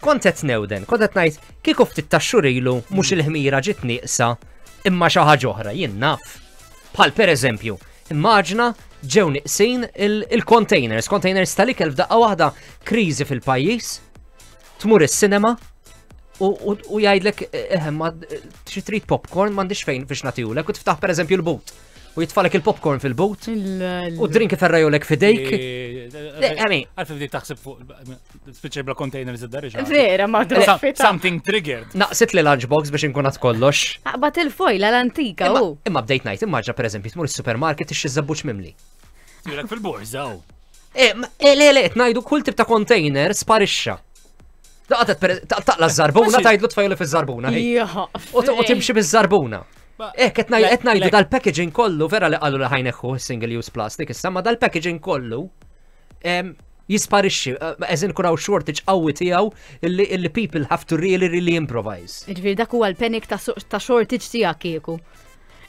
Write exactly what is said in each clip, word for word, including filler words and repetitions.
Kont qed newden, kont qed ngħid kieku ftit ta' xhur ilu mhux il-ħmira ġiet nieqsa imma xi ħaġa oħra, jien naf. Bħal pereżempju, immaġna ġew niqsin il-containers, containers tal-ikel f'daqqa waħda, kriżi fil-pajjiż, tmur is-cinema u u jgħidlek, eh, ma xi trid popcorn, m'għandix fejn biex nagħtihulek, u tiftaħ pereżempju l-but. U jitfalek il-popcorn fil-but u drink iferrajulek f'idejk. I Għalfejn bdiet taħseb fuq, spiċċa bla containers id-dar. Vera, ma Something triggered. Naqsit li lunchbox biex inkun għad kollox. Aqbad il-fojla l-antika u. Imma bdejt ngħid, immaġina pereżempju tmur is-supermarket tixtri żabbuġ mimli. Jurek fil-borża. Eh, le, le, ngħidu kull tip ta' container sparixxa. Taqla z-zarbuna, tgħidlu tfajli fiż-żarbuna. U timxi biż-żarbuna. Eh, qed ngħidu dal-packaging kollu, vera li qalu li ħa jneħħu single use plastic, issa ma dal-packaging kollu jisparixxi, eżin kun hawn shortage qawwi tiegħu illi people have to really, really improvise. Ġifieri dak huwa l-panic ta' shortage tiegħek kieku.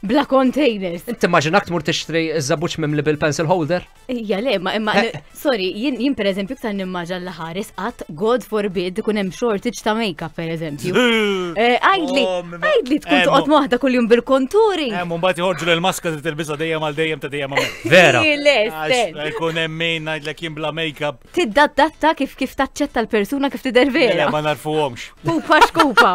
Bla containers. Inti immaġinak tmur tixtri żabbuġ mimli bil-pencil holder? Ija le, ma imma sorry, jien jien per eżempju iktar nimmaġa l-ħares qatt, God forbid, ikun hemm shortage ta' makeup per eżempju. Għajdli, għajdli tkun toqgħod waħda kuljum bil-contouring. Hemm mbagħad joħorġu l-maska li tilbisha dejjem għal dejjem ta' dejjem għamel. Vera. Jkun hemm min ngħidlek jien bla makeup. Tiddadatta kif kif taċċetta l-persuna kif tidher vera. Ma narfuhomx. Pupa xkupa.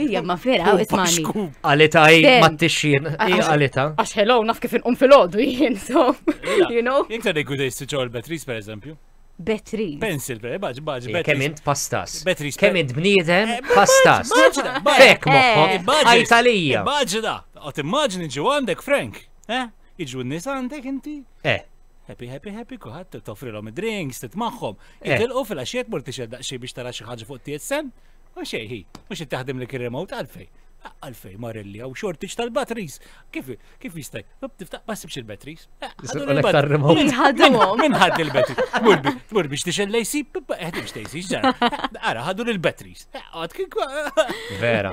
Ija, ma vera, ismani. Għalita hi ma t-tixjien, għalita. Għax hello, naf kif inqum fil-ħodu jien, so, you know. Iktar jkun jispiċċaw il-batteries per eżempju. Batteries. Pencil, per baġ, baġ, Kemm int pastas. Batteries. Kemm int bniedem pastas. Fek moħħok. Għajtalija. Immaġina, għot immaġini ġu għandek Frank, eh? Iġu n-nies għandek inti? Eh. Happy, happy, happy, kuħat toffrilhom id-drinks, titmaħħom. Jitilqu fil-għaxiet mur tixed daqsxejn biex tara xi ħaġa fuq T S N. U xejn hi, mhux taħdem li remote għalfej. Għalfej marelli għaw shortage tal-batteries. Kif kif jistaj? Tiftaħ ma sibx il-batteries. Remote. Min ħad il-batteries? Tmur biex tixgħel l-A C, ħedimx T A C, ġara. Ara, ħadu l-batteries. Vera.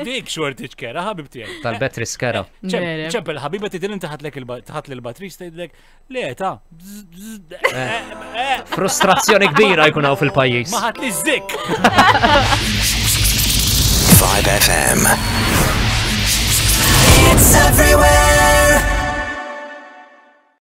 Dik shortage kera, ħabib tiegħi. Tal-batteries kera. ċempel ħabiba tidil inti ħadlek ħadd l-batteries tgħidlek le ta' Frustrazzjoni kbira jkun hawn fil-pajjiż. Ma ħadd li zik. five F M. It's everywhere.